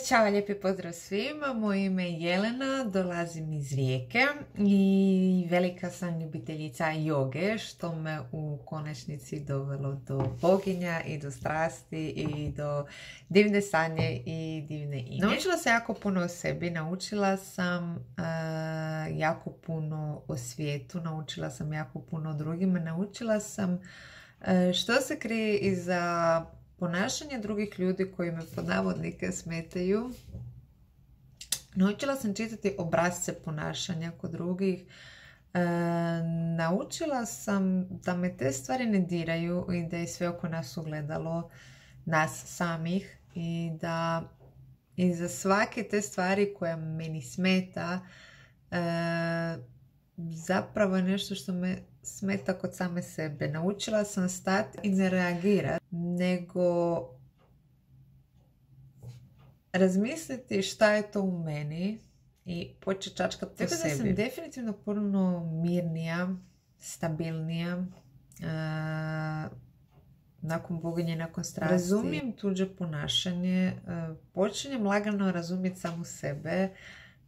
Ćao, lijepi pozdrav svima, moje ime je Jelena, dolazim iz Rijeke i velika sam ljubiteljica joge, što me u konačnici dovelo do boginja i do strasti i do divne sanje i divne ine. Naučila sam jako puno o sebi, naučila sam jako puno o svijetu, naučila sam jako puno o drugima, naučila sam što se krije iza ponašanje drugih ljudi koji me pod navodnike smetaju. Naučila sam čitati obrasce ponašanja kod drugih. Naučila sam da me te stvari ne diraju i da je sve oko nas ugledalo nas samih i da iza svake te stvari koja meni smeta zapravo je nešto što me smeta kod same sebe. Naučila sam stati i ne reagirati, nego razmisliti šta je to u meni i početi čačkati po sebi. Tako da sam definitivno puno mirnija, stabilnija, nakon boginje, nakon strasti. Razumijem tuđe ponašanje, počinjem lagano razumjeti samu sebe,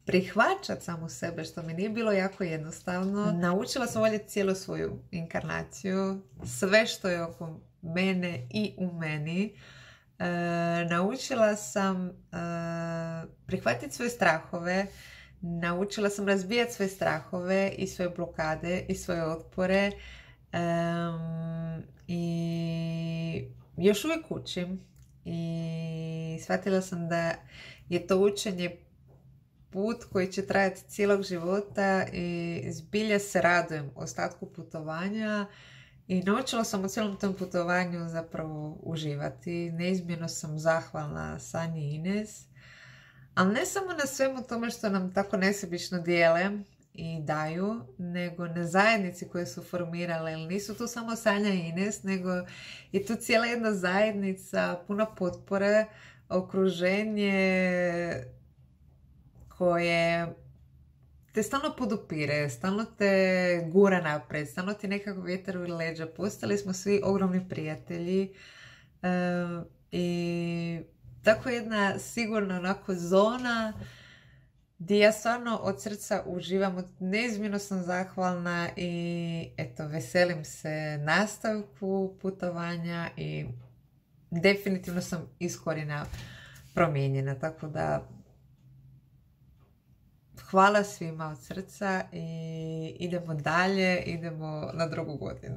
prihvaćati samu sebe, što mi nije bilo jako jednostavno. Naučila sam voljeti cijelu svoju inkarnaciju, sve što je oko mene i u meni. Naučila sam prihvatiti svoje strahove, naučila sam razbijati svoje strahove i svoje blokade i svoje otpore i još uvijek učim i shvatila sam da je to učenje put koji će trajati cijelog života i zbilja se radujem ostatku putovanja i naučila sam u cijelom tom putovanju zapravo uživati. Neizmjerno sam zahvalna Sanji i Ines, ali ne samo na svemu tome što nam tako nesebično dijele i daju, nego na zajednici koje su formirale, jer nisu tu samo Sanja i Ines, nego je tu cijela jedna zajednica, puna potpore, okruženje koje te stalno podupire, stalno te gura naprijed, stalno ti nekako vjetar u leđa. Postali smo svi ogromni prijatelji i tako jedna sigurna onako zona gdje ja stvarno od srca uživam, neizmjerno sam zahvalna i eto, veselim se nastavku putovanja i definitivno sam iz korijena promijenjena, tako da hvala svima od srca i idemo dalje, idemo na drugu godinu.